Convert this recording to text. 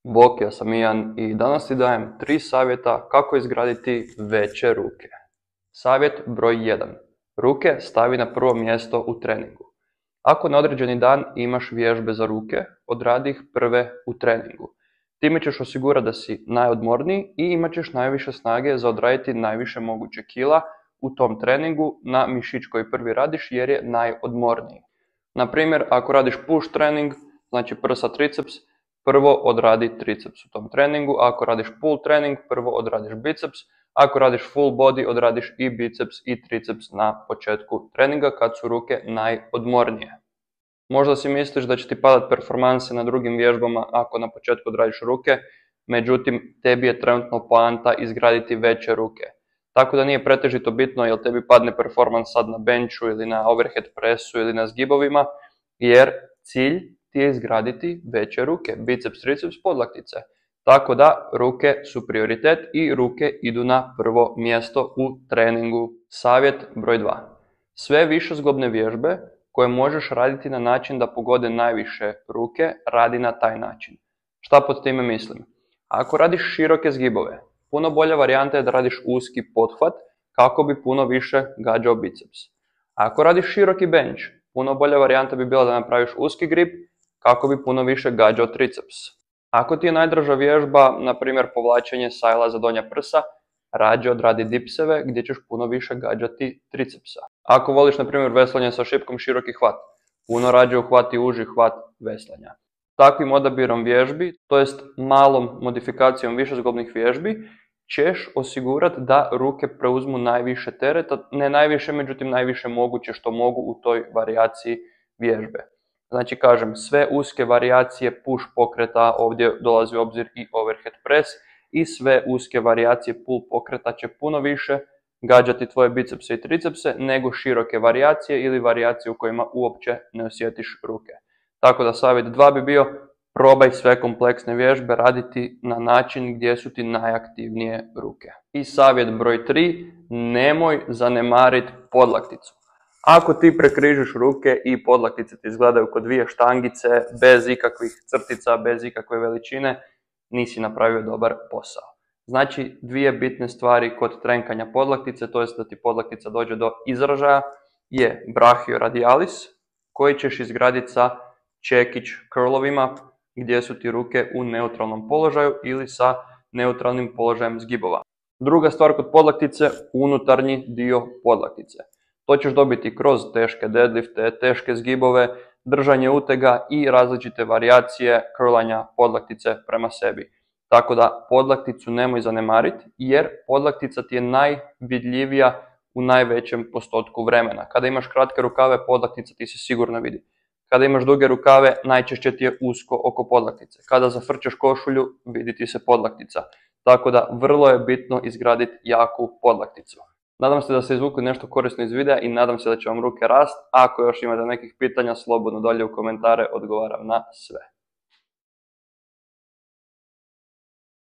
Bok, ja sam Ian i danas ti dajem 3 savjeta kako izgraditi veće ruke. Savjet broj 1. Ruke stavi na prvo mjesto u treningu. Ako na određeni dan imaš vježbe za ruke, odradi ih prve u treningu. Time ćeš osigurati da si najodmorniji i imat ćeš najviše snage za odraditi najviše moguće kila u tom treningu na mišić koji prvi radiš jer je najodmorniji. Na primjer, ako radiš push trening, znači prsa triceps, prvo odradi triceps u tom treningu, ako radiš pull trening, prvo odradiš biceps, ako radiš full body, odradiš i biceps i triceps na početku treninga kad su ruke najodmornije. Možda si misliš da će ti padat performanse na drugim vježbama ako na početku odradiš ruke, međutim tebi je trenutno poanta izgraditi veće ruke. Tako da nije pretežito bitno jel tebi padne performans sad na benchu ili na overhead pressu ili na zgibovima, jer cilj ti je izgraditi veće ruke, biceps, triceps, podlaktice. Tako da ruke su prioritet i ruke idu na prvo mjesto u treningu. Savjet broj 2. Sve višezglobne vježbe koje možeš raditi na način da pogode najviše ruke, radi na taj način. Šta pod time mislim? Ako radiš široke zgibove, puno bolja varijanta je da radiš uski pothvat kako bi puno više gađao biceps. Ako radiš široki bench, puno bolja varijanta bi bila da napraviš uski grip kako bi puno više gađao triceps. Ako ti je najdraža vježba, na primjer povlačenje sajla za donja prsa, rađe odradi dipseve gdje ćeš puno više gađati tricepsa. Ako voliš na primjer veslanje sa šipkom široki hvat, puno rađe uhvati uži hvat veslanja. Takvim odabirom vježbi, to jest malom modifikacijom višezglobnih vježbi, ćeš osigurati da ruke preuzmu najviše tereta, ne najviše, međutim najviše moguće što mogu u toj varijaciji vježbe. Znači kažem, sve uske varijacije push pokreta, ovdje dolazi u obzir i overhead press, i sve uske varijacije pull pokreta će puno više gađati tvoje bicepse i tricepse nego široke varijacije ili varijacije u kojima uopće ne osjetiš ruke. Tako da savjet 2 bi bio, probaj sve kompleksne vježbe raditi na način gdje su ti najaktivnije ruke. I savjet broj 3, nemoj zanemariti podlakticu. Ako ti prekrižiš ruke i podlaktice ti izgledaju kao dvije štangice, bez ikakvih crtica, bez ikakve veličine, nisi napravio dobar posao. Znači, dvije bitne stvari kod trenkanja podlaktice, to jest da ti podlaktica dođe do izražaja, je brachioradialis, koji ćeš izgraditi sa čekić curlovima, gdje su ti ruke u neutralnom položaju ili sa neutralnim položajem zgibova. Druga stvar kod podlaktice, unutarnji dio podlaktice. To ćeš dobiti kroz teške deadlifte, teške zgibove, držanje utega i različite varijacije curlanja podlaktice prema sebi. Tako da podlakticu nemoj zanemariti jer podlaktica ti je najvidljivija u najvećem postotku vremena. Kada imaš kratke rukave, podlaktica ti se sigurno vidi. Kada imaš duge rukave, najčešće ti je usko oko podlaktice. Kada zafrčeš košulju, vidi ti se podlaktica. Tako da vrlo je bitno izgraditi jaku podlakticu. Nadam se da ste izvukli nešto korisno iz videa i nadam se da će vam ruke rast. Ako još imate nekih pitanja, slobodno dolje u komentare, odgovaram na sve.